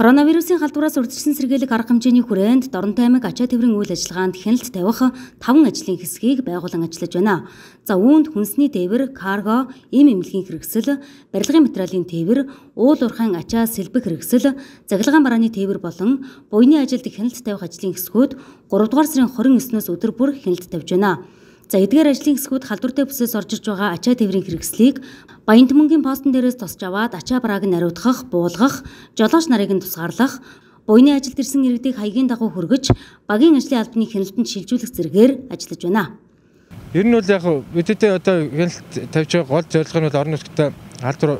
Коронавирусын халдвараас урьдчилсан сэргийлэх арга хэмжээний хүрээнд Доронтой аймаг ачаа тэврийн үйл ажиллагаанд хяналт тавих 5 ажлын хэсгийг байгуулан ажиллаж байна. За үүнд хүнсний тээвэр, карго, эм эмнэлгийн хэрэгсэл, барилгын материалын тээвэр, уул уурхайн ачаа сэлбэх хэрэгсэл, цахилгаан барааны тээвэр болон буйны ажилд хяналт тавих ажлын хэсгүүд 3 дугаар сарын 29-ноос өдөр бүр хяналт тавьж байна. За эдгээр ажлын хэсгүүд халдвартай бүсээс орж ирж байгаа ачаа тэврийн хэрэгслийг Баянтмөнгийн постон дээрээс тусч аваад ачаа барааг нь ариутгах, буулгах, жолооч нарыг нь тусгаарлах, буйны ажилд ирсэн иргэдийг хаягийн дагуу хүргэж, багийн ажлын албаны хяналтанд шилжүүлэх зэрэгээр ажиллаж байна. Ер нь бол яг бидний одоо хяналт тавьж байгаа гол зорилго нь бол орон нутгад халдвар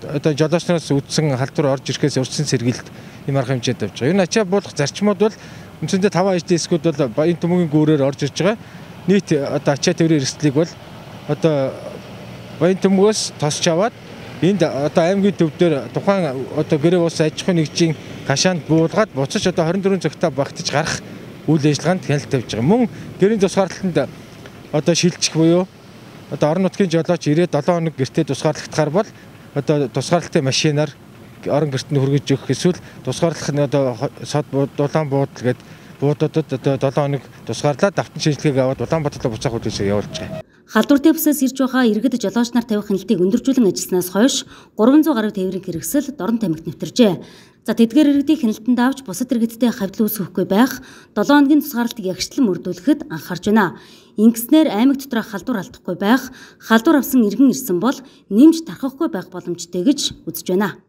одоо жолооч нараас үүдсэн халдвар орж ирэхээс урьдчилсан сэргийлэлт юм арга хэмжээнд тавьж байгаа. Ер нь ачаа буулгах зарчмууд бол үндсэндээ 5 ажлын хэсгүүд бол Баянтмөнгийн гүүрээр орж ирж байгаа. Нийт одоо ачаа тэврийн эрсдлийг бол одоо Баянтмөгөөс тосч аваад энд одоо аймгийн төв дээр тухайн одоо гэрээ ус аж ахуйн нэгжийн хашаанд буулгаад буцаж одоо 24 цагтаа багтаж гарах үйл ажиллагаанд хяналт тавьж байгаа. Мөн гэрийн тусгаарлалтанд одоо шилжих буюу одоо орон нутгийн жолооч 97 хоног гэртээ тусгаарлагдахаар бол одоо тусгаарлалтын машинаар орон гэрт нь хүргэж өгөх эсвэл тусгаарлах нь одоо сод дулаан буудал гэдэг буудуудад одоо 7 хоног тусгаарлаад давтан шинжилгээг аваад Улаанбаатар буцаах үдшийг явуулж байгаа. Халдвартай бүсээс ирж байгаа иргэд жолооч нар тавих хяналтыг өндөржүүлэн ажилласнаас хойш 300 гаруй тээврийн хэрэгсэл Дорон тамхит нэвтэржээ. За тэдгээр иргэдийг хяналтанд авч бусад иргэдтэй хавьдал үүсгэхгүй байх 7 хоногийн тусгаарлалтыг ягшлан мөрдүүлэхэд анхаарч байна. Ингэснээр аймаг доторх халдвар алдахгүй байх, халдвар авсан иргэн ирсэн бол нэмж тархахгүй байх боломжтой гэж үзэж байна.